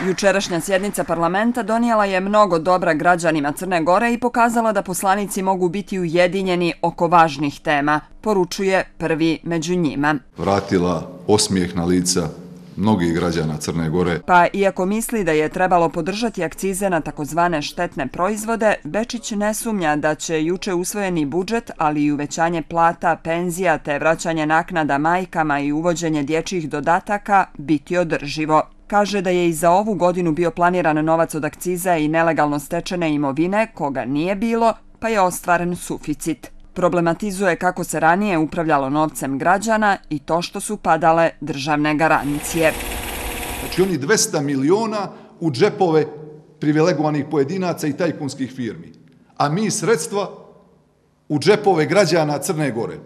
Jučerašnja sjednica parlamenta donijela je mnogo dobra građanima Crne Gore i pokazala da poslanici mogu biti ujedinjeni oko važnih tema, poručuje prvi među njima. Vratila osmijeh na lica mnogih građana Crne Gore. Pa iako misli da je trebalo podržati akcize na takozvane štetne proizvode, Bečić ne sumnja da će juče usvojeni budžet, ali i uvećanje plata, penzija te vraćanje naknada majkama i uvođenje dječjih dodataka biti održivo. Kaže da je i za ovu godinu bio planiran novac od akciza i nelegalno stečene imovine, koga nije bilo, pa je ostvaren suficit. Problematizuje kako se ranije upravljalo novcem građana i to što su padale državne garancije. Znači oni 200 miliona u džepove privilegovanih pojedinaca i tajkunskih firmi, a mi sredstva u džepove građana Crne Gore.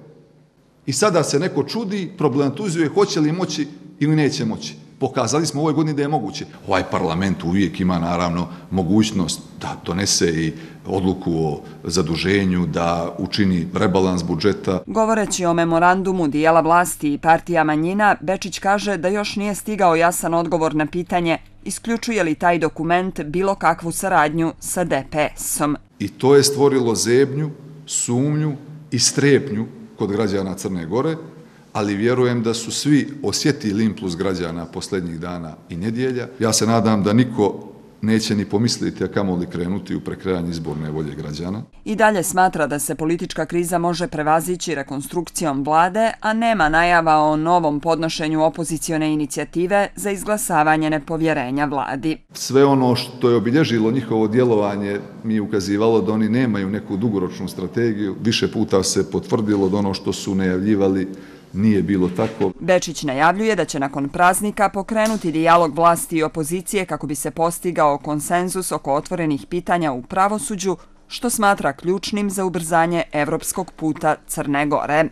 I sada se neko čudi, problematizuje hoće li moći ili neće moći. Pokazali smo u ovoj godini da je moguće. Ovaj parlament uvijek ima naravno mogućnost da donese i odluku o zaduženju, da učini rebalans budžeta. Govoreći o memorandumu dijela vlasti i partija manjina, Bečić kaže da još nije stigao jasan odgovor na pitanje isključuje li taj dokument bilo kakvu saradnju sa DPS-om. I to je stvorilo zebnju, sumnju i strepnju kod građana Crne Gore, ali vjerujem da su svi osjetili impuls građana posljednjih dana i nedjelja. Ja se nadam da niko neće ni pomisliti, a kamoli krenuti u prekrajanje izborne volje građana. I dalje smatra da se politička kriza može prevazići rekonstrukcijom vlade, a nema najava o novom podnošenju opozicione inicijative za izglasavanje nepovjerenja vladi. Sve ono što je obilježilo njihovo djelovanje mi je ukazivalo da oni nemaju neku dugoročnu strategiju. Više puta se potvrdilo da ono što su najavljivali nije bilo tako. Bečić najavljuje da će nakon praznika pokrenuti dijalog vlasti i opozicije kako bi se postigao konsenzus oko otvorenih pitanja u pravosuđu, što smatra ključnim za ubrzanje evropskog puta Crne Gore.